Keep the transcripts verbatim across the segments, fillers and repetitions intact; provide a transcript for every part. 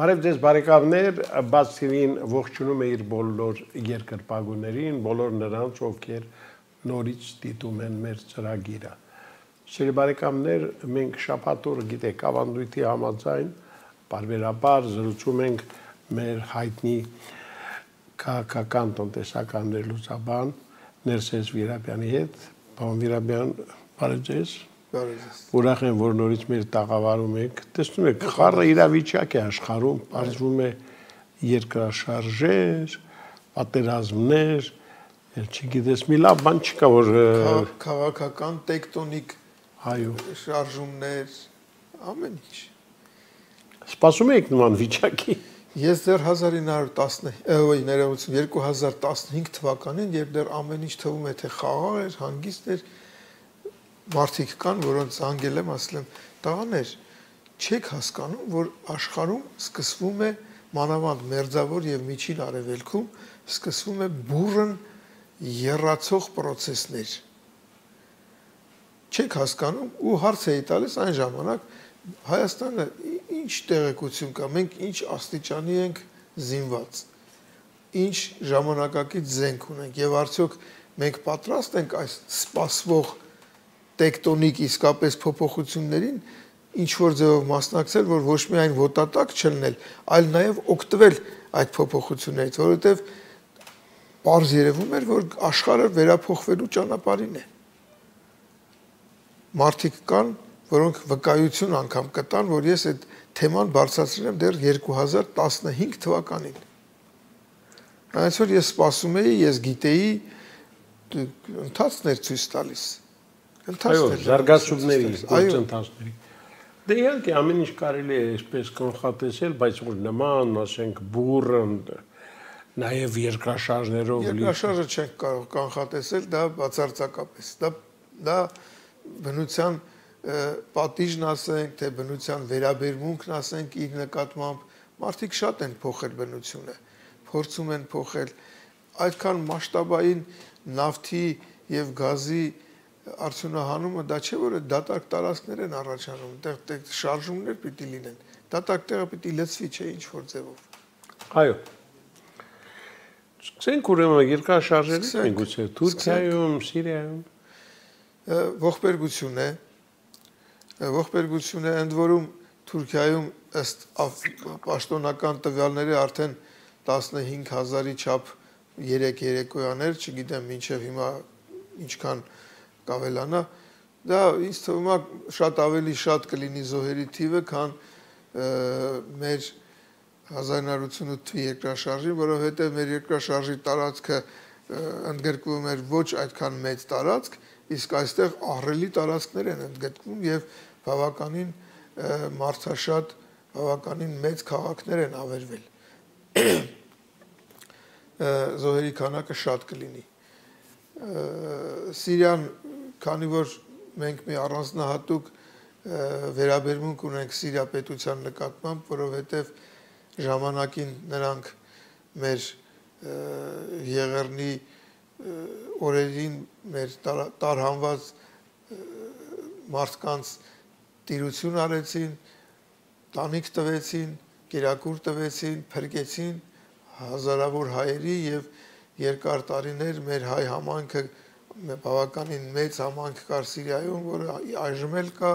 Բարև ձեզ բարեկամներ, բաց թիվին ողջունում է իր բոլոր երկրպագուներին, բոլոր նրանց, ովքեր նորից դիտում են մեր ծրագիրը։ Սիրելի բարեկամներ, մենք շաբաթ օրը գիտեք, ավանդույթի համաձայն բարբերաբար զրուցում ենք մեր հայտնի քաղաքական տնտեսական ներլուծաբան Ներսես Վիրաբյանի հետ։ Պարոն Վիրաբյան, բարև ձեզ։ Ուրախ եմ, որ նորից մեր տաղավարում եք, տեսնում եք, խառը իրավիճակ է աշխարհում, պարզվում է երկրաշարժեր, պատերազմներ, չգիտես, մի լավ բան չկա, որ քաղաքական տեկտոնիկ շարժումներ, ամեն ինչ։ Սպասում եք նման վիճակի։ Ես դեռ երկու հազար տասնհինգ թվականին, երբ դեռ ամեն ինչ թվում է, թե խաղաղ էր, հանգիստ էր, մարդիկ կան, որոնց զանգել եմ, ասել եմ, տղաներ, չեք հասկանում, որ աշխարհում սկսվում է մանավանդ մերձավոր եւ միջին արևելքում սկսվում է բուրըն եռացող process-ներ։ Չեք հասկանում ու հարց էի տալիս այն ժամանակ Հայաստանը ինչ տեղեկություն կա, մենք ինչ աստիճանի ենք զինված, ինչ ժամանակակից զենք ունենք եւ արդյոք մենք պատրաստ ենք այս սպասվող տեկտոնիկ իսկապես փոփոխություններին ինչ որ ձևով մասնակցել, որ ոչ միայն ոտատակ չլնել, այլ նաև օգտվել այդ փոփոխություններից, որովհետև պարզ երևում էր, որ աշխարհը վերափոխվելու ճանապարհին է։ Մարդիկ կան, որոնք վկայություն անգամ կտան, որ ես այդ թեման բարձրացրել եմ դեռ երկու հազար տասնհինգ թվականին։ Այսօր ես սպասում էի, ես գիտեի, ընթացքն էր ցույց տալիս։ Այո, զարգացումների, գործընթացների։ Դե իհարկե ամեն ինչ կարելի է այսպես կանխատեսել, բայց որ նման, ասենք, բուրըն, նաև երկրաշարժներով լի։ Երկրաշարժը չենք կարող կանխատեսել, դա բացարձակապես։ Դա դա բնության պատիժն ասենք, թե բնության վերաբերմունքն ասենք իր նկատմամբ, մարդիկ շատ են փոխել բնությունը, փորձում են փոխել այդքան մասշտաբային նավթի եւ գազի արդյունահանումը դա չէ որ դատարկ տարածքներ են առաջանում, այդտեղ շարժումներ պիտի լինեն, դատարկ տեղը պիտի լցվի, չէ ինչ որ ձևով։ Այո։ Սկսենք ուրեմն երկրաշարժերից, միգուցե Թուրքիայում, Սիրիայում։ Ողբերգություն է, ողբերգություն է, ընդ որում Թուրքիայում ըստ պաշտոնական տվյալների արդեն տասնհինգ հազարի չափ երեք երեկոյաներ, չգիտեմ մինչև հիմա ինչքան կավելանա, դա ինձ թվում է շատ ավելի շատ կլինի զոհերի թիվը, քան մեր հազար իննսուն ութ թվականի երկրաշարժին, որովհետև մեր երկրաշարժի տարածքը ընդգրկվում էր ոչ այդքան մեծ տարածք, իսկ այստեղ ահռելի տարածքներ են ընդգրկվում եւ բավականին մարդաշատ, բավականին մեծ քաղաքներ են ավերվել։ Զոհերի քանակը շատ կլինի։ Սիրիան, քանի որ մենք մի առանձնահատուկ վերաբերմունք ունենք Սիրիա պետության նկատմամբ, որովհետև ժամանակին նրանք մեր Եղեռնի օրերին մեր տարհանված մարդկանց տիրություն արեցին, տանիք տվեցին, կերակուր տվեցին, փրկեցին հազարավոր հայերի եւ երկար տարիներ մեր հայ համայնքը բավականին մեծ համայնք կար Սիրիայում, որը այժմ էլ կա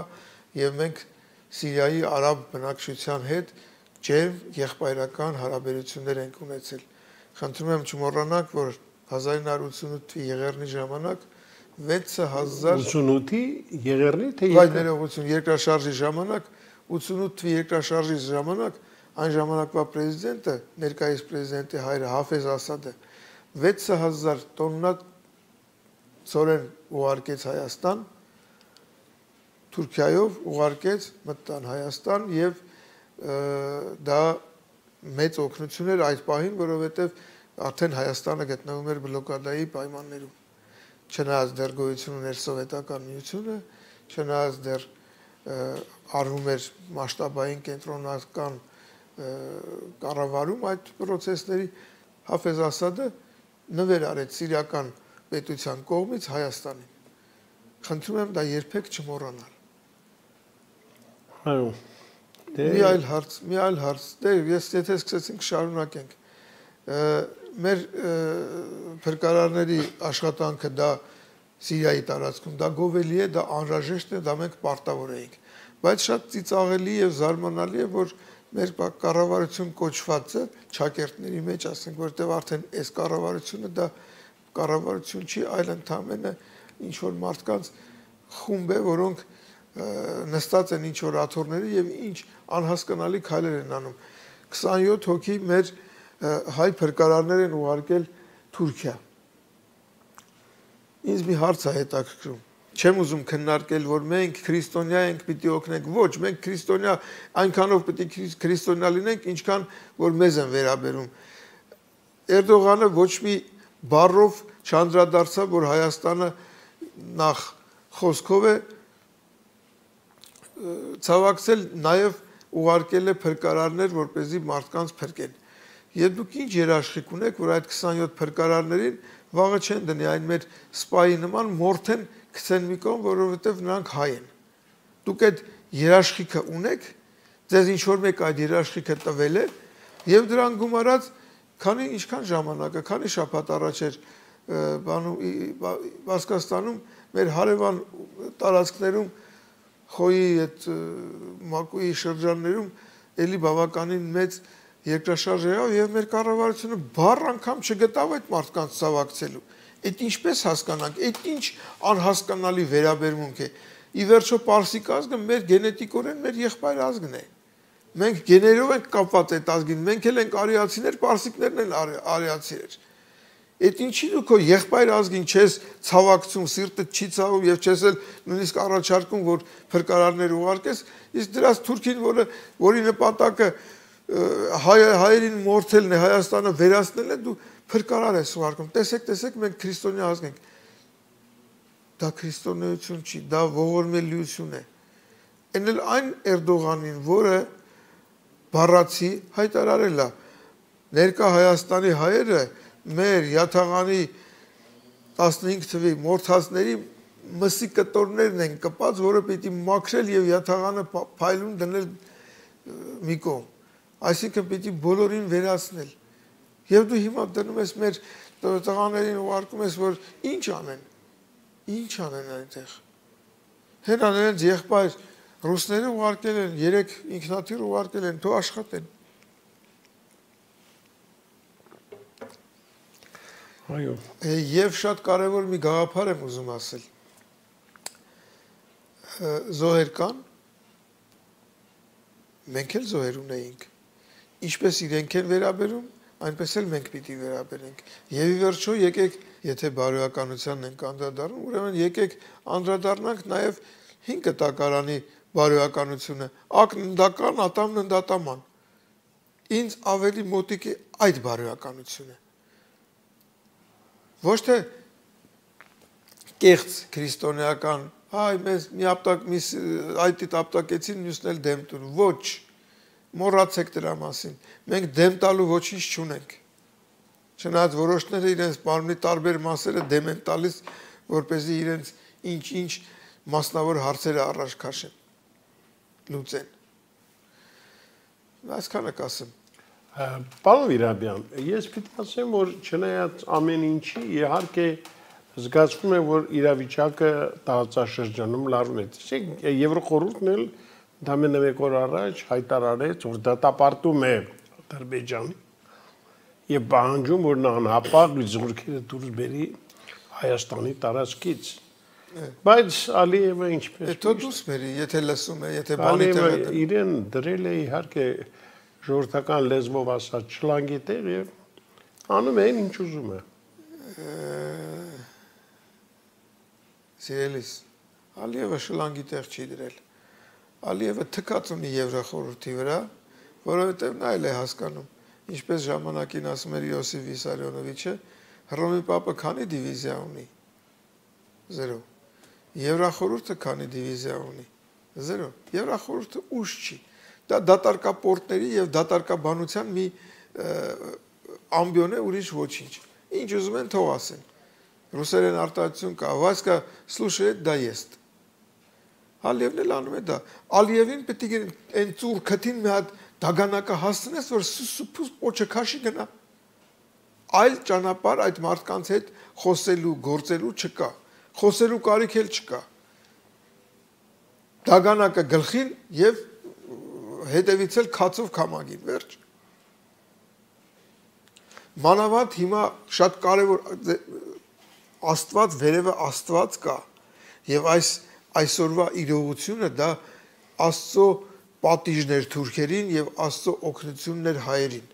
եւ մենք Սիրիայի արաբ բնակչության հետ ջերմ եղբայրական հարաբերություններ ենք ունեցել։ Խնդրում եմ չմոռանաք, որ հազար իննսուն ութ թվականի Եղեռնի ժամանակ վեց հազար ութսունութի Եղեռնի թե երկրաշարժի երկրաշարժի ժամանակ ութսունութ թվականի երկրաշարժի ժամանակ այն ժամանակվա պրեզիդենտը, ներկայիս պրեզիդենտի հայրը Հաֆեզ Ասադը վեց հազար տոննա ծորեն ուղարկեց Հայաստան, Թուրքիայով ուղարկեց մտան Հայաստան եւ դա մեծ օգնություն էր այդ պահին, որովհետեւ արդեն Հայաստանը գտնվում էր բլոկադայի պայմաններում։ Չնայած դեռ գոյություն ուներ սովետական միությունը, չնայած դեռ արվում էր մասշտաբային կենտրոնական կառավարում այդ process-ների, Հաֆեզ Ասադը նվեր արեց սիրիական պետության կողմից Հայաստանին։ Խնդրում եմ դա երբեք չմոռանալ։ Այո։ Մի այլ հարց, մի այլ հարց։ Դե ես եթե սկսեցինք շարունակենք։ Մեր փրկարարների աշխատանքը դա Սիրիայի տարածքում, դա գովելի է, դա անհրաժեշտ է, դա մենք պարտավոր էինք։ Բայց շատ ծիծաղելի եւ զարմանալի է, որ մեր կառավարություն կոչվածը ճակերտների մեջ ասենք, որտեղ արդեն այս կառավարությունը դա կառավարություն չի, այլ ընդհանրապես ինչ որ մարդկանց խումբ է, որոնք նստած են ինչ որ աթոռների եւ ինչ անհասկանալի քայլեր են անում։ քսանյոթ հոգի մեր հայ փրկարարներ են ուղարկել Թուրքիա։ Ինձ մի հարց է հետաքրքրում։ Չեմ ուզում քննարկել, որ մենք քրիստոնյա ենք, պիտի օգնենք։ Ոչ, մենք քրիստոնյա այնքանով պիտի քրիստոնյա լինենք, ինչքան որ մեզ են վերաբերում։ Էրդողանը ոչ մի բառով չանդրադարձավ, որ Հայաստանը նախ խոսքով է ցավակցել, նաև ուղարկել է փրկարարներ, որպեսզի մարդկանց փրկեն։ Եվ դուք ինչ երաշխիք ունեք, որ այդ քսանյոթ փրկարարներին վաղը չեն դնի այն մեր սպայի նման մորթեն գցեն մի կողմ, որովհետև նրանք հայ են։ Դուք այդ երաշխիքը ունեք, ձեզ ինչ որ մեկ այդ երաշխիքը տվել է, եւ դրան գումարած քանի ինչքան ժամանակը, քանի շաբաթ առաջ էր բանում Բասկաստանում մեր հարևան տարածքներում խոյի այդ մակուի շրջաններում էլի բավականին մեծ երկրաշարժ եղավ եւ մեր կառավարությունը բառ անգամ չգտավ այդ մարդկանց ցավակցելու։ Այդ ինչպես հասկանանք, այդ ինչ անհասկանալի վերաբերմունք է։ Ի վերջո պարսիկ ազգը մեր գենետիկորեն մեր եղբայր ազգն է։ Մենք գեներով ենք կապված այդ ազգին, մենք էլ ենք արիացիներ, պարսիկներն են արիացիներ։ Այդ ինչի դու քո եղբայր ազգին չես ցավակցում, սիրտդ չի ցավում եւ չես էլ նույնիսկ առաջարկում, որ փրկարարներ ուղարկես, իսկ դրանց Թուրքին, որը որի նպատակը հայ հայերին մորթելն է, Հայաստանը վերացնելն է, դու փրկարար ես ուղարկում։ Տեսեք, տեսեք, մենք քրիստոնյա ազգ ենք։ Դա քրիստոնեություն չի, դա ողորմելիություն է։ Այն էլ այն Էրդողանին, որը բառացի հայտարարել է, ներկա Հայաստանի հայերը մեր Յաթաղանի տասնհինգ թվի մորթածների մսի կտորներն են կպած, որը պիտի մաքրել եւ Յաթաղանը փայլուն դնել մի կողմ։ Այսինքն պիտի բոլորին վերացնել։ Եվ դու հիմա դնում ես մեր տղաներին ուղարկում ես, որ ինչ անեն։ Ինչ անեն այնտեղ։ Հենաներենց եղբայր ռուսները ուղարկել են, երեք ինքնաթիռ ուղարկել են, թող աշխատեն։ Այո։ Եվ շատ կարևոր մի գաղափար եմ ուզում ասել։ Զոհեր կան, մենք էլ զոհեր ունեինք։ Ինչպես իրենք են վերաբերում, այնպես էլ մենք պիտի վերաբերենք։ Եվ ի վերջո եկեք, եթե բարոյականությանն ենք անդրադառնում, ուրեմն եկեք անդրադառնանք նաև հին կտակարանի բարոյականությունը, ակննդական, ատամննդատաման։ Ինձ ավելի մոտիկ է այդ բարոյականությունը։ Ոչ թե կեղծ քրիստոնեական, հայ մեզ մի ապտակ մի այդի ապտակեցին, մյուսն էլ դեմ տուն։ Ոչ, մոռացեք դրա մասին։ Մենք դեմ տալու ոչինչ չունենք։ Չնայած որոշները իրենց մարմնի տարբեր մասերը դեմ են տալիս, որպեսզի իրենց ինչ-ինչ մասնավոր հարցերը առաջ քաշեն, լուծեն։ Այսքանը կասեմ։ Պարոն Վիրաբյան, ես պիտի ասեմ, որ չնայած ամեն ինչի, իհարկե զգացվում է, որ իրավիճակը տարածաշրջանում լարվում է։ Տեսեք, Եվրոխորհուրդն էլ ընդամենը մեկ օր առաջ հայտարարեց, որ դատապարտում է Ադրբեջանը եւ պահանջում, որ նա անհապաղ զորքերը դուրս բերի Հայաստանի տարածքից։ Բայց Ալիևը ինչպես Հետո դուրս բերի, եթե լսում է, եթե բանի տեղ է։ Իրեն դրել է իհարկե ժողովրդական լեզվով ասած շլանգի տեղ եւ անում են ինչ ուզում է։ Սիրելիս, Ալիևը շլանգի տեղ չի դրել։ Ալիևը թքած ունի Եվրախորհրդի վրա, որովհետև նա էլ է հասկանում, ինչպես ժամանակին ասում էր Յոսիֆ Վիսարյոնովիչը, Հռոմի Պապը քանի դիվիզիա ունի։ Զերո։ Եվրախորհուրդը քանի դիվիզիա ունի։ Զերո։ Եվրախորհուրդը ուժ չի։ Դա դատարկապորտների եւ դատարկաբանության մի ամբիոն է, ուրիշ ոչինչ։ Ինչ ուզում են թող ասեն։ Ռուսերեն արտահայտություն կա, Վասկա слушает да ест։ Ալիևն էլ անում է դա։ Ալիևին պետք է այն ծուր քթին մի հատ դագանակը հասցնես, որ սուս պոչը քաշի գնա։ Այլ ճանապարհ այդ մարդկանց հետ խոսելու, գործելու չկա։ Խոսելու կարիք էլ չկա։ Դագանակը գլխին եւ հետևից էլ քացով քամագին, վերջ։ Մանավանդ հիմա շատ կարևոր Աստված վերևը Աստված կա եւ այս այսօրվա իրողությունը դա Աստծո պատիժներ թուրքերին եւ Աստծո օգնություններ հայերին։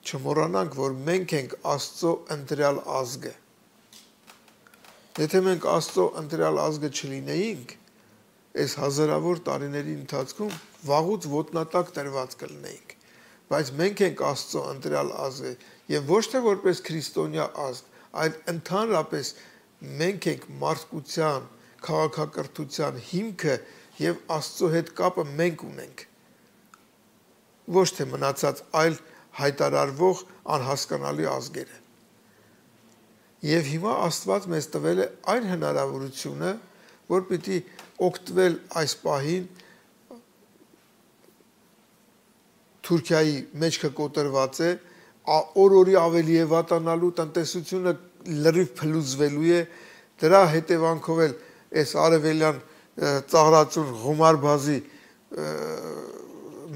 Չմոռանանք, որ մենք ենք Աստծո ընտրյալ ազգը։ Եթե մենք Աստծո ընտրյալ ազգը չլինեինք, այս հազարավոր տարիների ընթացքում վաղուց ոտնատակ տրված կլինեինք, բայց մենք ենք Աստծո ընտրյալ ազգը եւ ոչ թե որպես քրիստոնյա ազգ, այլ ընդհանրապես մենք ենք մարդկության, քաղաքակրթության հիմքը եւ Աստծո հետ կապը մենք ունենք։ Ոչ թե մնացած այլ հայտարարվող անհասկանալի ազգերը։ Եվ հիմա Աստված մեզ տվել է այն հնարավորությունը, որ պիտի օգտվել այս պահին Թուրքիայի մեջքը կոտրված է, օր-օրի ավելի է վատանալու, տնտեսությունը լրիվ փլուզվելու է, դրա հետևանքով էլ այս արևելյան ծաղրածուն Ղումար բազի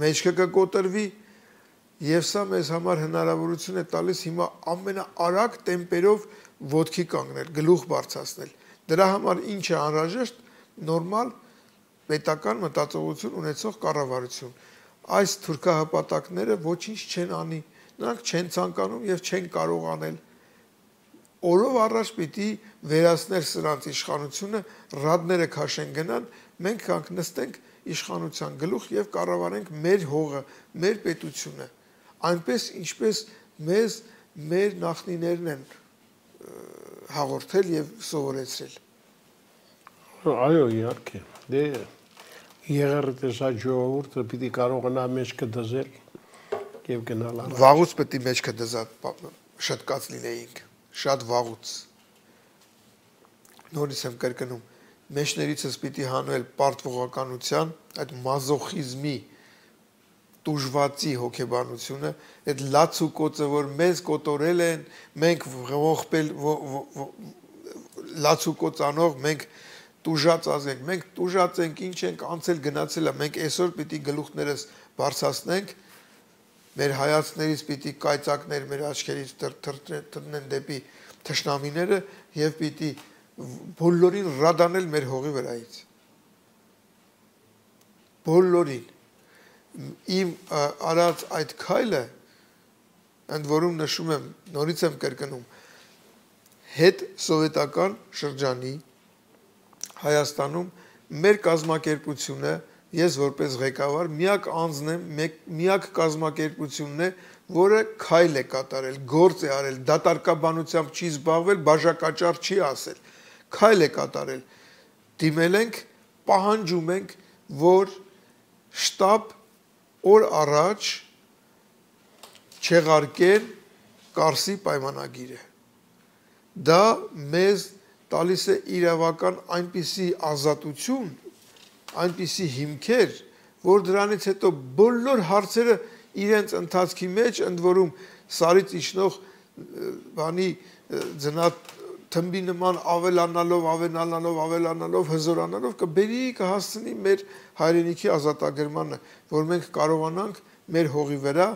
մեջքը կկոտրվի, եւ սա մեզ համար հնարավորություն է տալիս հիմա ամենաարագ տեմպերով ոտքի կանգնել, գլուխ բարձրացնել։ Դրա համար ինչ է անհրաժեշտ նորմալ պետական մտածողություն ունեցող կառավարություն։ Այս թուրքահպատակները ոչինչ չեն անի, նրանք չեն ցանկանում եւ չեն կարող անել։ Օրով առաջ պիտի վերացնել սրանց իշխանությունը, ռադները քաշեն գնան, մենք կանգնստենք իշխանության գլուխ եւ կառավարենք մեր հողը, մեր պետությունը, այնպես ինչպես մեզ մեր նախնիներն են հաղորդել եւ սովորեցրել։ Այո, իհարկե։ Դե եղերտեսա ժողովուրդը պիտի կարողանա մեջքը դզել եւ գնալ առաջ։ Վաղուց պետք է մեջքը դզած շտկած լինեինք, շատ վաղուց։ Նորից եմ կրկնում, մեջներիցս պիտի հանվել պարտվողականության, այդ մազոխիզմի տուժվածի հոգեբանությունը, այդ լացուկոցը, որ մեզ կոտորել են, մենք ողբել լացուկոծանող, մենք տուժած ազգ ենք, մենք տուժած ենք, ինչ ենք անցել գնացել է, մենք այսօր պիտի գլուխներս բարձրացնենք, մեր հայացքներից պիտի կայծակներ մեր աչքերից տրտնեն դեպի թշնամիները եւ պիտի բոլորին ռադանել մեր հողի վրայից։ Բոլորին իմ արած այդ քայլը, ընդ որում նշում եմ, նորից եմ կրկնում, հետ սովետական շրջանի Հայաստանում մեր կազմակերպությունը, ես որպես ղեկավար միակ անձն եմ, միակ կազմակերպությունն է, որը քայլ է կատարել, գործ է արել, դատարկաբանությամբ չի զբաղվել, բաժակաճառ չի ասել, քայլ է կատարել, դիմել ենք, պահանջում ենք, որ շտապ օր առաջ չեղարկեն Կարսի պայմանագիրը։ Դա մեզ տալիս է իրավական այնպիսի ազատություն, այնպիսի հիմքեր, որ դրանից հետո բոլոր հարցերը իրենց ընթացքի մեջ, ընդ որում սարից իջնող բանի ձնատ թմբի նման ավելանալով, ավելանալով, ավելանալով, հզորանալով կբերի կհասցնի մեր հայրենիքի ազատագրմանը, որ մենք կարողանանք մեր հողի վրա,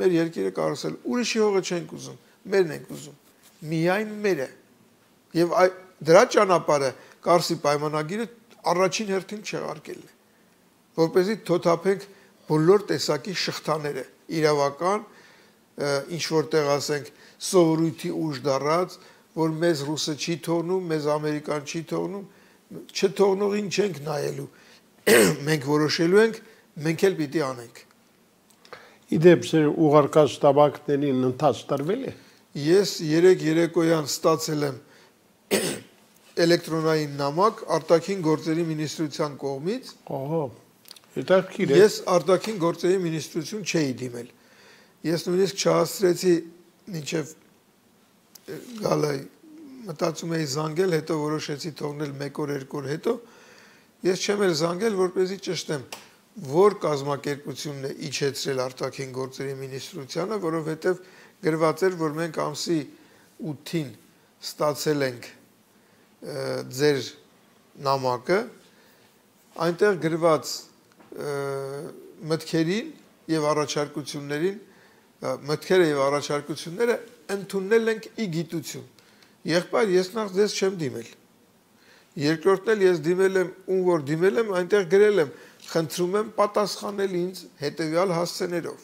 մեր երկիրը կառուցել, ուրիշի հողը չենք ուզում, մերն ենք ուզում, միայն մերը։ Եվ դրա ճանապարհը Կարսի պայմանագիրը առաջին հերթին չեղարկելն է, որպեսզի թոթափենք բոլոր տեսակի շղթաները, իրավական, ինչ որտեղ ասենք սովորույթի ուժ դառած, որ մեզ ռուսը չի թողնում, մեզ ամերիկան չի թողնում, չթողնողին չենք նայելու, մենք որոշելու ենք, մենք էլ պիտի անենք։ Իդեպ սեր ուղարկած տաբակներին ընթաց տրվել է։ Ես երեք երեկոյան ստացել եմ էլեկտրոնային նամակ արտաքին գործերի մինիստրության կողմից։ Ահա, հետաքրքիր է։ Ես արտաքին գործերի մինիստրություն չէի դիմել։ Ես նույնիսկ չհասցրեցի մինչև գալը մտածում էի զանգել, հետո որոշեցի թողնել մեկ օր, երկու օր հետո, Ես չեմ էլ զանգել, որպեսզի ճշտեմ, որ կազմակերպությունն է իջեցրել արտաքին գործերի մինիստրությանը, որովհետև գրված էր, որ մենք ամսի ութին ստացել ենք ձեր նամակը, այնտեղ գրված մտքերին եւ առաջարկություններին, մտքերը եւ առաջարկությունները ընդունել ենք ի գիտություն։ Եղբայր, ես նախ ձեզ չեմ դիմել։ Երկրորդն էլ ես դիմել եմ, ում որ դիմել եմ, այնտեղ գրել եմ, խնդրում եմ պատասխանել ինձ հետեւյալ հասցեներով։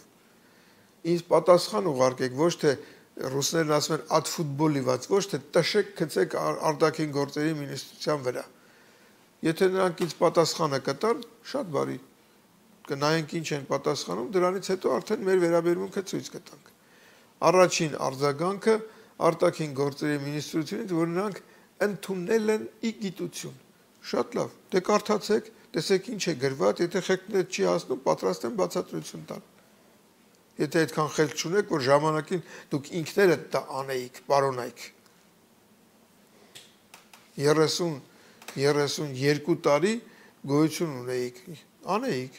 Ինձ պատասխան ուղարկեք, ոչ թե ռուսներն ասում են «at ֆուտբոլիված», ոչ թե տշեք գցեք արտաքին գործերի մինիստրության վրա։ Եթե նրանք ինձ պատասխանը կտան, շատ բարի, կնայենք ինչ են պատասխանում, դրանից հետո արդեն մեր վերաբերմունքը ցույց կտանք։ Առաջին արձագանքը արտաքին գործերի մինիստրությունից, որ նրանք ընդունել են ի գիտություն։ Շատ լավ, դե կարդացեք, տեսեք ինչ է գրված, եթե խելքներդ չի հասնում, պատրաստ եմ բացատրություն տալ։ Եթե այդքան խելք չունեք, որ ժամանակին դուք ինքներդ դա անեիք, պարոնայք։ երեսուն երկու տարի գոյություն ունեիք, անեիք։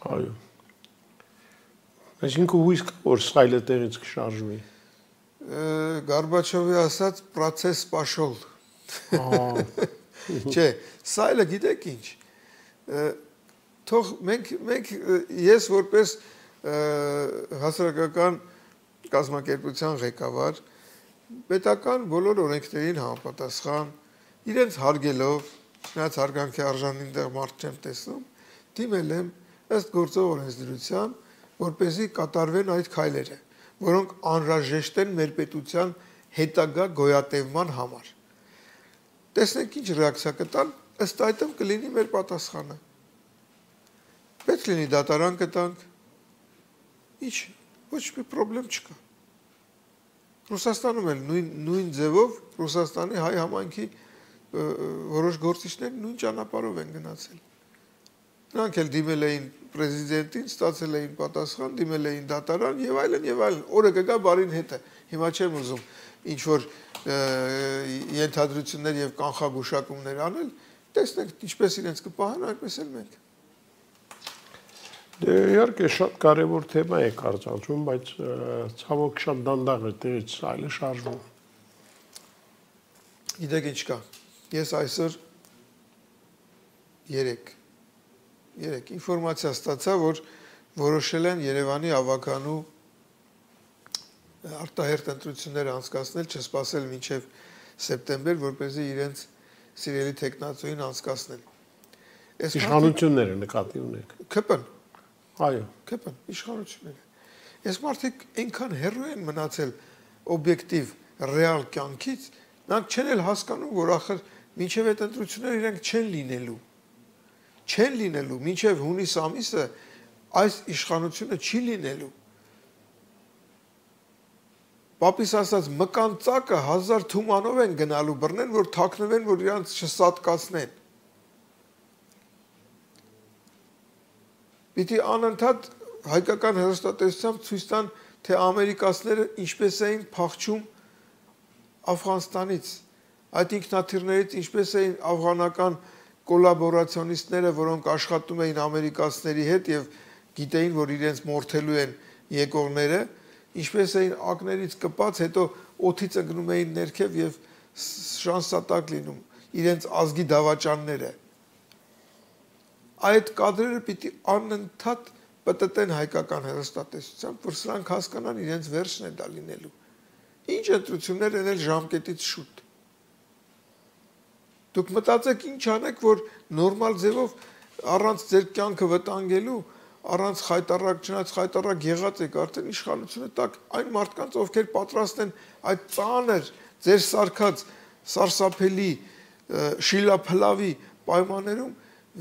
Այո։ Այսինքն հույս կա, որ սայլը տեղից կշարժվի։ Գորբաչովի ասած process պաշոլ։ Չէ, սայլը գիտեք ինչ։ Թող մենք մենք ես որպես հասարակական կազմակերպության ղեկավար պետական բոլոր օրենքներին համապատասխան իրենց հարգելով, նրանց հարգանքի արժանին դեռ մարդ չեմ տեսնում, դիմել եմ ըստ գործող օրենսդրության, որպեսզի կատարվեն այդ քայլերը, որոնք անհրաժեշտ են մեր պետության հետագա գոյատևման համար։ Տեսնենք ինչ ռեակցիա կտան, ըստ այդմ կլինի մեր պատասխանը։ Պետք լինի դատարան կտանք, ինչ, ոչ մի պրոբլեմ չկա։ Ռուսաստանում էլ նույն ձևով Ռուսաստանի հայ համայնքի որոշ գործիչներ նույն ճանապարհով են գնացել։ Նրանք էլ դիմել էին պրեզիդենտին, ստացել էին պատասխան, դիմել էին դատարան եւ այլն եւ այլն։ Օրը կգա բարին հետը։ Հիմա չեմ ուզում ինչ որ ենթադրություններ եւ կանխագուշակումներ անել, տեսնենք ինչպես իրենց կպահան, այնպես էլ մենք։ Դե իհարկե շատ կարևոր թեմա է կարծանցում, բայց ցավոք շատ դանդաղ է տեղից այլը շարժվում։ Գիտեք ինչ կա։ Ես այսօր երեք երեք ինֆորմացիա ստացա, որ որոշել են Երևանի ավականու արտահերթ ընտրություններ անցկացնել, չսպասել մինչև սեպտեմբեր, որպեսզի իրենց սիրելի տեխնացուին անցկացնեն։ Իշխանությունները նկատի ունեք։ ՔՊ-ն։ Այո, ՔՊ-ն, իշխանությունները։ Այս մարդիկ այնքան հեռու են մնացել օբյեկտիվ ռեալ կյանքից, նրանք չեն էլ հասկանում, որ ախր մինչև այդ ընտրությունները իրենք չեն լինելու։ Չեն լինելու, մինչև հունիս ամիսը այս իշխանությունը չի լինելու։ Պապիս ասած մկան ծակը հազար թումանով են գնալու բռնեն, որ թաքնվեն, որ իրանց չսատկացնեն։ Պիտի անընդհատ հայկական հեռուստատեսությամբ ցույց տան, թե ամերիկացիները ինչպես էին փախչում Աֆղանստանից, այդ ինքնաթիռներից ինչպես էին աֆղանական կոլաբորացիոնիստները, որոնք աշխատում էին ամերիկացիների հետ եւ գիտեին, որ իրենց մորթելու են եկողները, ինչպես էին ակներից կպած, հետո օդից ընկնում էին ներքև եւ շանսատակ լինում իրենց ազգի դավաճանները։ Այդ կադրերը պիտի անընդհատ պտտեն հայկական հեռուստատեսությամբ, որ սրանք հասկանան իրենց վերջն է դա լինելու։ Ինչ ընտրություններ են էլ ժամկետից շուտ։ Դուք մտածեք ինչ անեք, որ նորմալ ձևով առանց ձեր կյանքը վտանգելու, առանց խայտարակ, չնայած խայտարակ եղած եք արդեն իշխանությունը տակ այն մարդկանց, ովքեր պատրաստ են այդ ծանր ձեր սարքած սարսափելի շիլափլավի պայմաններում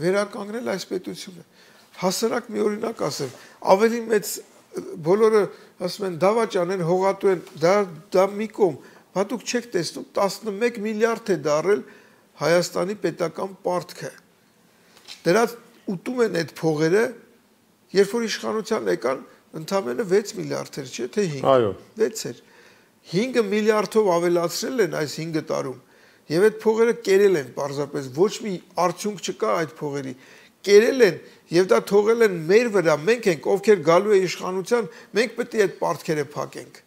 վերականգնել այս պետությունը։ Հասարակ մի օրինակ ասեմ, ավելի մեծ բոլորը ասում են դավաճան են, հողատու են, դա դա մի կողմ, բա դուք չեք տեսնում տասնմեկ միլիարդ է դարել Հայաստանի պետական պարտքը։ Դրանց ուտում են այդ փողերը, երբ որ իշխանության եկան, ընդամենը վեց միլիարդ էր, չէ՞ թե հինգ։ Այո։ վեց էր։ հինգ միլիարդով ավելացրել են այս հինգ տարում։ Եվ այդ փողերը կերել են պարզապես, ոչ մի արդյունք չկա այդ փողերի։ Կերել են եւ դա թողել են մեր վրա, մենք ենք, ովքեր գալու է իշխանության, մենք պետք է այդ պարտքերը փակենք։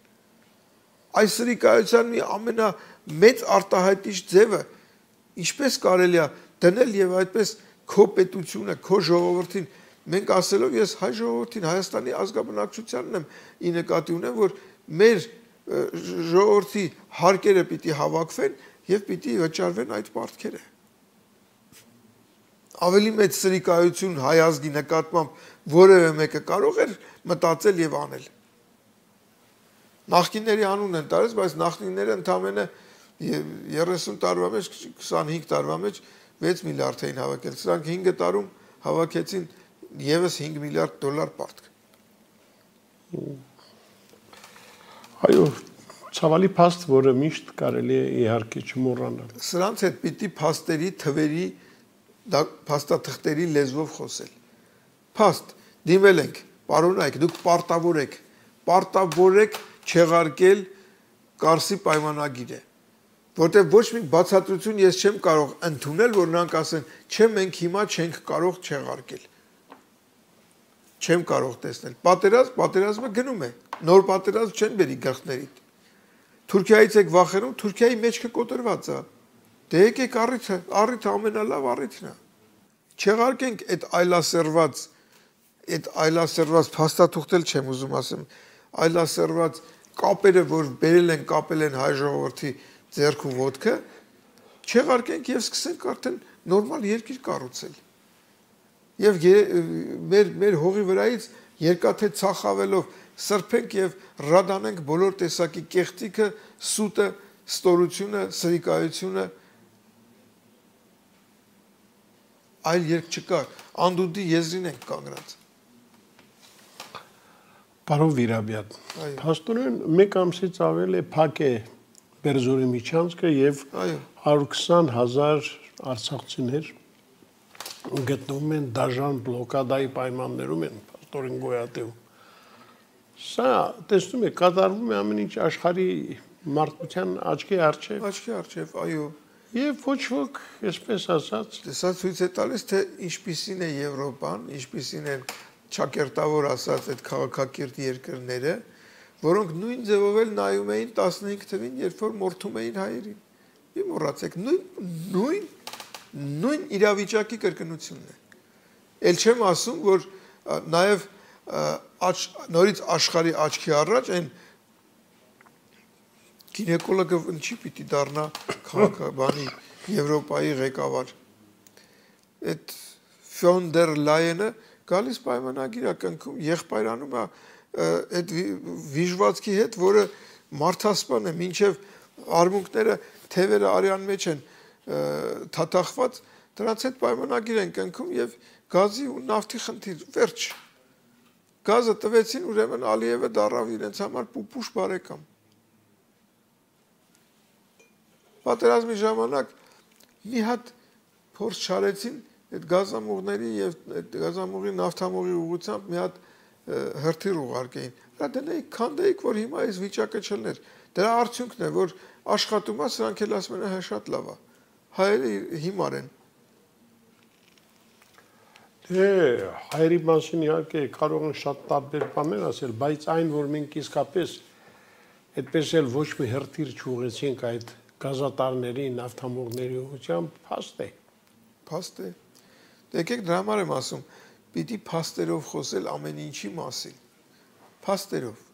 Այս սրիկայության մի ամենամեծ արտահայտիչ ձևը ինչպես կարելի է դնել եւ այդպես քո պետությունը, քո ժողովրդին, մենք ասելով ես հայ ժողովրդին, Հայաստանի ազգաբնակչությանն եմ ի նկատի ունեմ, որ մեր ժողովրդի հարկերը պիտի հավաքվեն եւ պիտի վճարվեն այդ պարտքերը։ Ավելի մեծ սրիկայություն հայ ազգի նկատմամբ որևէ մեկը կարող էր մտածել եւ անել։ Նախկինների անուն են տարած, բայց նախկինները ընդամենը երեսուն տարվա մեջ, քսանհինգ տարվա մեջ վեց միլիարդ էին հավաքել։ Սրանք հինգ տարում հավաքեցին եւս հինգ միլիարդ դոլար պարտք։ Այո, ցավալի փաստ, որը միշտ կարելի է իհարկե չմոռանալ։ Սրանց հետ պիտի փաստերի, թվերի, փաստաթղթերի լեզվով խոսել։ Փաստ, դիմել ենք, պարոնայք, դուք պարտավոր եք, պարտավոր եք չեղարկել Կարսի պայմանագիրը, որտեղ ոչ մի բացատրություն ես չեմ կարող ընդունել, որ նրանք ասեն, չէ, մենք հիմա չենք կարող չեղարկել։ Չեմ կարող տեսնել։ Պատերազմ, պատերազմը գնում է։ Նոր պատերազմ չեն բերի գլխներիդ։ Թուրքիայից եք վախենում, Թուրքիայի մեջքը կոտրված է։ Դե եկեք առիթը, առիթը ամենալավ առիթն է։ Չեղարկենք այդ այլասերված, այդ այլասերված փաստաթուղթել չեմ ուզում ասեմ, այլասերված կապերը, որ բերել են, կապել են հայ ժողովրդի ձեռքու ոտքը, չեղարկենք եւ սկսենք արդեն նորմալ երկիր կառուցել։ Եվ մեր մեր հողի վրայից երկաթե ցախավելով սրբենք եւ ռադանենք բոլոր տեսակի կեղտիկը, սուտը, ստորությունը, սրիկայությունը, այլ երկ չկա, անդունդի եզրին ենք կանգնած։ Պարոն Վիրաբյան, փաստորեն մեկ ամսից ավել է փակ է Բերձորի միջանցքը եւ հարյուր քսան հազար արցախցիներ գտնվում են դաժան բլոկադայի պայմաններում են փաստորեն գոյատևում։ Սա տեսնում եք, կատարվում է ամեն ինչ աշխարհի մարդկության աչքի առջև։ Աչքի առջև, այո։ Եվ ոչ ոք, այսպես ասած, սա ցույց է տալիս, թե ինչպիսին է Եվրոպան, ինչպիսին են ճակերտավոր ասած այդ քաղաքակիրթ երկրները, որոնք նույն ձևով էլ նայում էին տասնհինգ թվին, երբ որ մորթում էին հայերին։ Մի մոռացեք, նույն նույն նույն իրավիճակի կրկնությունն է։ Էլ չեմ ասում, որ նաև նորից աշխարհի աչքի առաջ այն գինեկոլոգը ինչի պիտի դառնա քաղաքաբանի Եվրոպայի ղեկավար։ Այդ Ֆոն դեր Լայենը գալիս պայմանագիր է կնքում, եղբայրանում է այդ վիժվածքի հետ, որը մարդասպան է, մինչև արմունկները, թևերը արյան մեջ են թաթախված, դրանց հետ պայմանագիր են կնքում եւ գազի ու նավթի խնդիր, վերջ։ Գազը տվեցին, ուրեմն Ալիևը դառավ իրենց համար պուպուշ բարեկամ։ Պատերազմի ժամանակ մի հատ փորձ չարեցին այդ գազամուղների եւ այդ գազամուղի նավթամուղի ուղղությամբ մի հատ հրթիռ ուղարկեին։ Դա դնեիք, քանդեիք, որ հիմա այս վիճակը չլներ։ Դրա արդյունքն է, որ աշխատում է, սրանք էլ ասում են, հա շատ լավ է։ Հայերը հիմար են։ Դե հայերի մասին իհարկե կարող են շատ տարբեր բաներ ասել, բայց այն, որ մենք իսկապես այդպես էլ ոչ մի հրթիռ չուղեցինք այդ գազատարների, նավթամուղների ուղղությամբ, փաստ է։ Փաստ է։ Դե եկեք դրա համար եմ ասում, պիտի փաստերով խոսել ամեն ինչի մասին։ Փաստերով։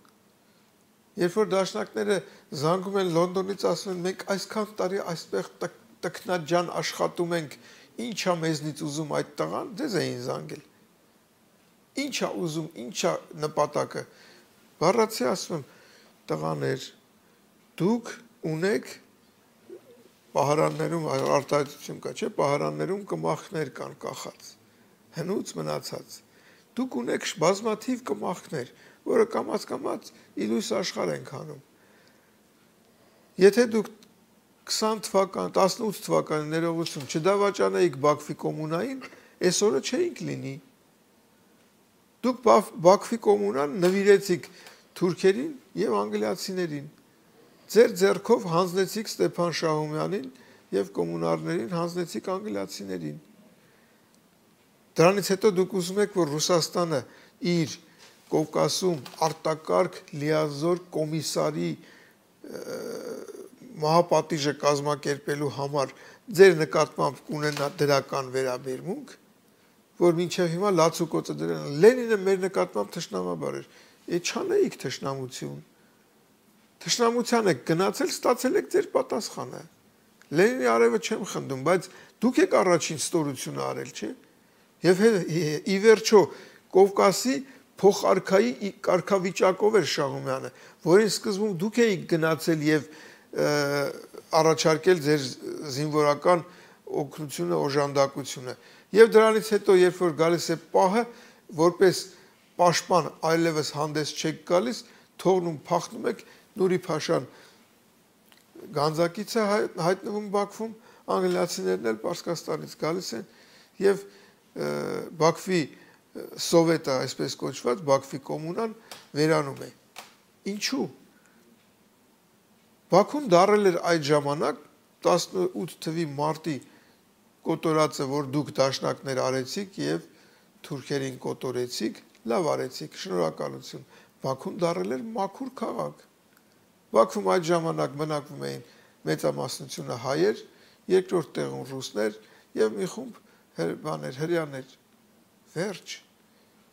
Երբ որ դաշնակները զանգում են Լոնդոնից, ասում են, մենք այսքան տարի այսպես տքնաջան աշխատում ենք, ինչա մեզնից ուզում այդ տղան, դեզ էին զանգել։ Ինչա ուզում, ինչա նպատակը։ Բառացի ասում եմ, տղաներ, դուք ունեք պահարաններում արտահայտություն կա, չէ, պահարաններում կմախքներ կան կախած, հնուց մնացած։ Դուք ունեք բազմաթիվ կմախքներ, որը կամաց-կամաց իլույս աշխարհ ենք անում։ Եթե դուք քսան թվական, տասնութ թվականի ներողություն չդավաճանեիք Բաքվի կոմունային, այսօրը չէինք լինի։ Դուք Բաքվի կոմունան նվիրեցիք թուրքերին եւ անգլիացիներին։ Ձեր ձեռքով հանձնեցիք Ստեփան Շահումյանին եւ կոմունարներին հանձնեցիք անգլիացիներին։ Դրանից հետո դուք ուզում եք, որ Ռուսաստանը իր Կովկասում արտակարգ լիազոր կոմիսարի մահապատիժը կազմակերպելու համար ձեր նկատմամբ կունենա դրական վերաբերմունք, որ մինչև հիմա լացուկոցը դրան։ Լենինը մեր նկատմամբ թշնամաբար էր։ Է չանեիք թշնամություն։ Թշնամության եք գնացել, ստացել եք ձեր պատասխանը։ Լենինի արևը չեմ խնդում, բայց դուք եք առաջին ստորությունը արել, չէ՞։ Եվ ի վերջո Կովկասի փոխարքայի կարգավիճակով էր Շահումյանը, որին սկզբում դուք էիք գնացել եւ առաջարկել ձեր զինվորական օգնությունը, օժանդակությունը։ Եվ դրանից հետո, երբ որ գալիս է պահը, որպես պաշտպան այլևս հանդես չեք գալիս, թողնում փախնում եք, Նուրի Փաշան Գանձակից է հայտնվում Բաքվում, անգլիացիներն էլ Պարսկաստանից գալիս են եւ Բաքվի սովետը, այսպես կոչված, Բաքվի կոմունան վերանում է։ Ինչու՞։ Բաքուն դարել էր այդ ժամանակ տասնութ թվականի մարտի կոտորածը, որ դուք դաշնակներ արեցիք եւ թուրքերին կոտորեցիք, լավ արեցիք, շնորհակալություն։ Բաքուն դարել էր մաքուր քաղաք։ Բաքվում այդ ժամանակ բնակվում էին մեծամասնությունը հայեր, երկրորդ տեղում ռուսներ եւ մի խումբ բաներ, հրեաներ։ Վերջ։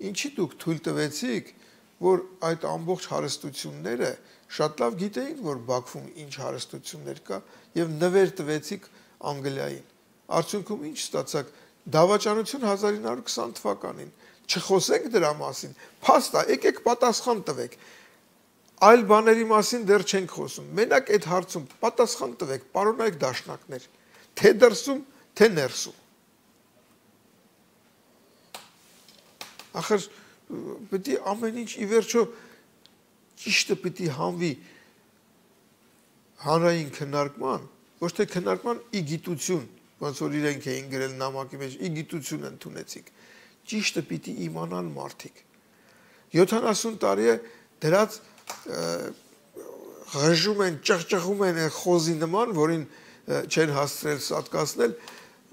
Ինչի դուք թույլ տվեցիք, որ այդ ամբողջ հարստությունները շատ լավ գիտեին, որ Բաքվում ինչ հարստություններ կա եւ նվեր տվեցիք Անգլիային։ Արդյունքում ինչ ստացաք։ Դավաճանություն հազար ինը հարյուր քսան թվականին։ Չխոսենք դրա մասին։ Փաստա, եկեք պատասխան տվեք։ Այլ բաների մասին դեռ չենք խոսում։ Մենակ այդ հարցում պատասխան տվեք, պարոնայք դաշնակներ, թե դրսում, թե ներսում։ Ախր պետք է ամեն ինչ ի վերջո ճիշտը պետք է հանվի հանրային քննարկման, ոչ թե քննարկման ի գիտություն, ոնց որ իրենք էին գրել նամակի մեջ, ի գիտություն ընդունեցիք։ Ճիշտը պետք է իմանան մարդիկ։ յոթանասուն տարի է դրած ղժում են, ճղճղում են խոզի նման, որին չեն հասցրել սատկացնել,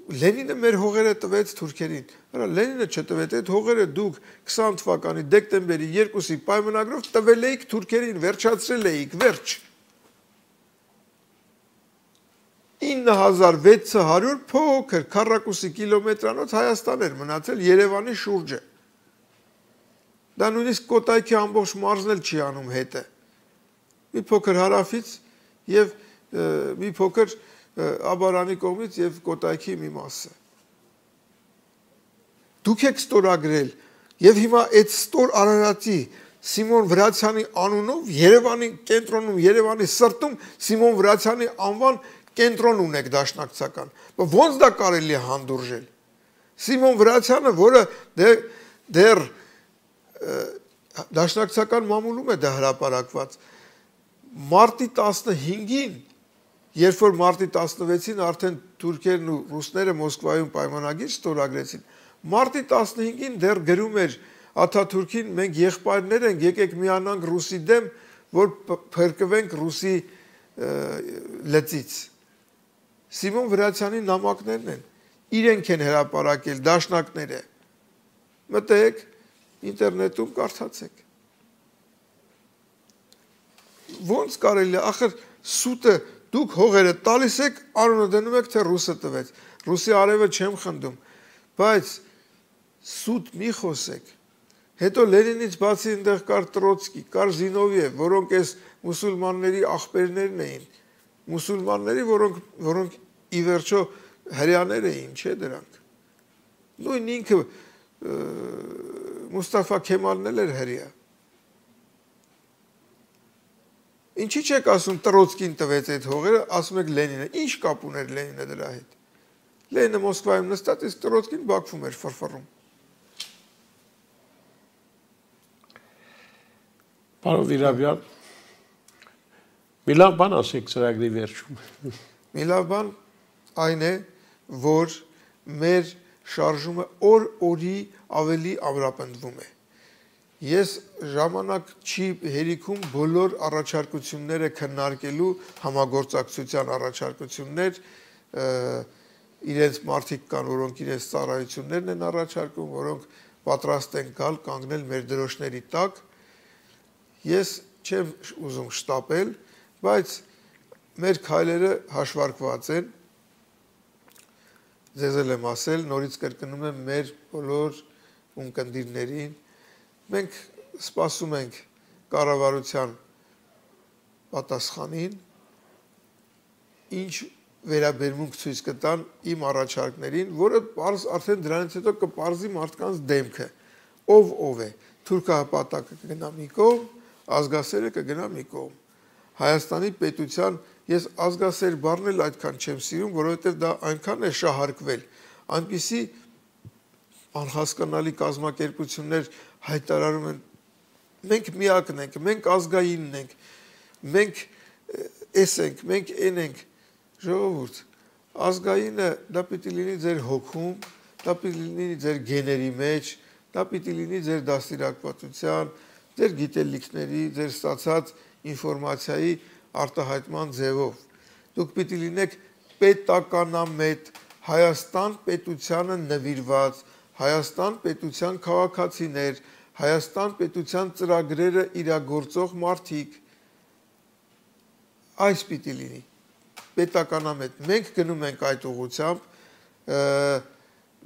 Լենինը մեր հողերը տվեց թուրքերին։ Հələ Լենինը չտվեց, այդ հողերը դուք քսան թվականի դեկտեմբերի երկուսի պայմանագրով տվել էիք թուրքերին, վերջացրել էիք, վերջ։ ինը հազար վեց հարյուր փոքր քառակուսի կիլոմետրանոց Հայաստան էր մնացել Երևանի շուրջը։ Դա նույնիսկ Կոտայքի ամբողջ մարզն էլ չի անում հետը։ Մի փոքր հարավից եւ մի փոքր Աբարանի կողմից եւ Կոտայքի մի մասը։ Դուք եք ստորագրել եւ հիմա այդ ստոր Արարատի Սիմոն Վրացյանի անունով Երևանի կենտրոնում, Երևանի սրտում Սիմոն Վրացյանի անվան կենտրոն ունեք դաշնակցական։ Ոնց դա կարելի է հանդուրժել։ Սիմոն Վրացյանը, որը դեռ դաշնակցական մամուլում է դա հրապարակված, մարտի տասնհինգին, երբ որ մարտի տասնվեցին արդեն թուրքերն ու ռուսները Մոսկվայում պայմանագիր ստորագրեցին, մարտի տասնհինգին դեռ գրում էր Աթաթուրքին, մենք եղբայրներ ենք, եկեք միանանք ռուսի դեմ, որ փրկվենք ռուսի լծից։ Սիմոն Վրացյանի նամակներն են, իրենք են հրապարակել, դաշնակները։ Մտեք ինտերնետում կարդացեք։ Ոնց կարելի է, ախր սուտը դուք հողերը տալիս եք, անունը դնում եք, թե ռուսը տվեց։ Ռուսի արևը չեմ խնդում, բայց սուտ մի խոսեք։ Հետո Լենինից բացի այնտեղ կար Տրոցկի, կար Զինովիև, որոնք այս մուսուլմանների ախպերներն էին։ Մուսուլմանների, որոնք որոնք ի վերջո հրեաներ էին, չէ՞ դրանք։ Նույն ինքը Մուստաֆա Քեմալն էլ էր հրեա։ Ինչի՞ չեք ասում Տրոցկին տվեց այդ հողերը, ասում եք Լենինը։ Ինչ կապ ուներ Լենինը դրա հետ։ Լենինը Մոսկվայում նստած, իսկ Տրոցկին Բաքվում էր ֆրֆռում։ Պարոն Վիրաբյան, մի լավ բան ասեք ծրագրի վերջում։ Մի լավ բան այն է, որ մեր շարժումը օր օրի ավելի ամրապնդվում է։ Ես ժամանակ չի հերիքում բոլոր առաջարկությունները քննարկելու համագործակցության առաջարկություններ իրենց մարդիկ կան, որոնք իրենց ծառայություններն են առաջարկում, որոնք պատրաստ են գալ կանգնել մեր դրոշների տակ։ Ես չեմ ուզում շտապել, բայց մեր քայլերը հաշվարկված են։ Ձեզ էլ եմ ասել, նորից կրկնում եմ մեր բոլոր ունկնդիրներին։ Մենք սպասում ենք կառավարության պատասխանին, ինչ վերաբերմունք ցույց կտան իմ առաջարկներին, որը արդեն դրանից հետո կպարզի մարդկանց դեմքը, ով ով է։ Թուրքահպատակը կգնա մի կողմ, ազգասերը կգնա մի կողմ։ Հայաստանի պետության ես ազգասեր բառն էլ այդքան չեմ սիրում, որովհետև դա այնքան է շահարկվել, այնպիսի անհասկանալի կազմակերպություններ հայտարարում են, մենք միակն ենք, մենք ազգայինն ենք, մենք էս ենք, մենք են ենք, ժողովուրդ, ազգայինը դա պիտի լինի ձեր հոգում, դա պիտի լինի ձեր գեների մեջ, դա պիտի լինի ձեր դաստիարակվածության, ձեր գիտելիքների, ձեր ստացած ինֆորմացիայի արտահայտման ձևով։ Դուք պիտի լինեք պետականամետ, Հայաստան պետությանը նվիրված, Հայաստան պետության քաղաքացիներ, Հայաստան պետության ծրագրերը իրագործող մարդիկ։ Այս պիտի լինի պետականամետ։ Մենք գնում ենք այդ ուղղությամբ,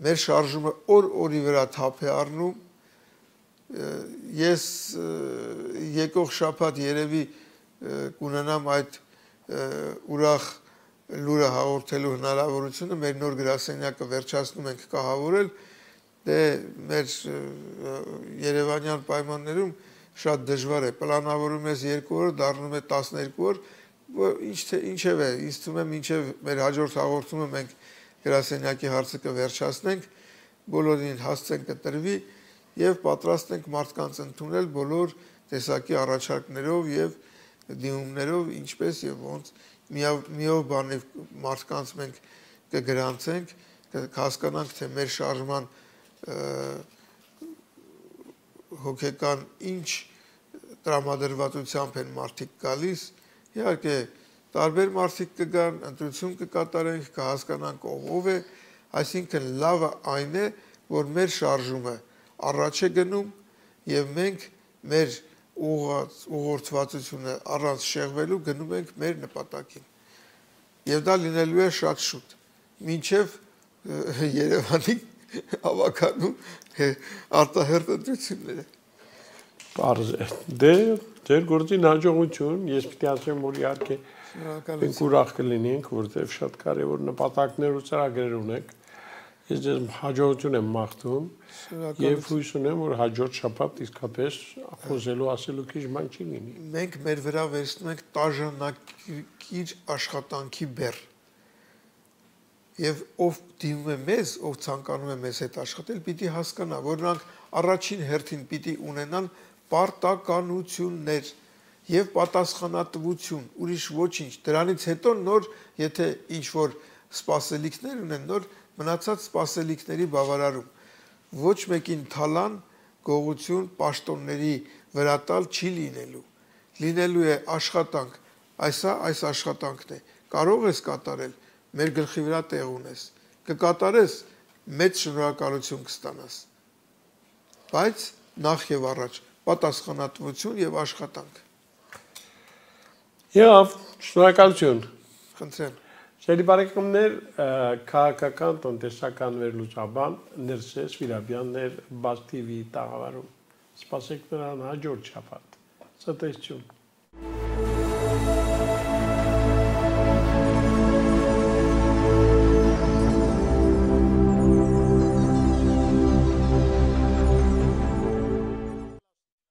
մեր շարժումը օր օրի վրա թափ է առնում։ Ես եկող շաբաթ երևի կունենամ այդ ուրախ լուրը հաղորդելու հնարավորությունը, մեր նոր գրասենյակը վերջացնում ենք կահավորել, դե մեր երևանյան պայմաններում շատ դժվար է, պլանավորում ես երկու օր, դառնում է տասներկու օր, ինչև է, ինձ թվում է մինչև մեր հաջորդ հաղորդումը մենք գրասենյակի հարցը կվերջացնենք, բոլորին հասցեն կտրվի և պատրաստ ենք մարդկանց ընդունել բոլոր տեսակի առաջարկներով և դիմումներով, ինչպես և ոնց միով բանիվ մարդկանց մենք կգրանցենք, կհասկանանք, թե մեր շարժման հոգեկան ինչ տրամադրվածությամբ են մարդիկ գալիս, իհարկե տարբեր մարդիկ կգան, ընտրություն կկատարենք, կհասկանանք ով ով է, այսինքն լավը այն է, որ մեր շարժումը առաջ է գնում և մենք մեր ուղղորդվածությունը առանց շեղվելու գնում ենք մեր նպատակին։ Եվ դա լինելու է շատ շուտ, մինչև Երևանի հավաքանում արտահերթ ընտրությունները։ Պարզ է։ Դե, ձեր գործին հաջողություն, ես պիտի ասեմ, որ իհարկե մենք ուրախ կլինենք, որտեղ շատ կարևոր նպատակներ ու ծրագրեր ունենք։ Ես ձեզ հաջողություն եմ մաղթում և հույս ունեմ, որ հաջորդ շաբաթ իսկապես խոսելու ասելու քիչ բան չի լինի։ Մենք մեր վրա վերցնում ենք տաժանակիր աշխատանքի բեռ։ Եվ ով դիմում է մեզ, ով ցանկանում է մեզ հետ աշխատել, պիտի հասկանա, որ նրանք առաջին հերթին պիտի ունենան պարտականություններ և պատասխանատվություն, ուրիշ ոչինչ։ Դրանից հետո նոր, եթե ինչ-որ սպասելիքներ ունեն, նոր մնացած սպասելիքների բավարարում։ Ոչ մեկին թալան, գողություն, պաշտոնների վրա տալ չի լինելու։ Լինելու է աշխատանք, այսա այս աշխատանքն է։ Կարող ես կատարել, մեր գլխի վրա տեղ ունես։ Կկատարես, մեծ շնորհակալություն կստանաս։ Բայց նախ և առաջ պատասխանատվություն և աշխատանք։ Եվ շնորհակալություն։ Խնդրեմ։ Սերի բարեկամներ, քաղաքական տնտեսական վերլուծաբան Ներսես Վիրաբյաններ Բաց թի վի տաղավարում։ Սպասեք նրան հաջորդ շաբաթ։ Ցտեսություն։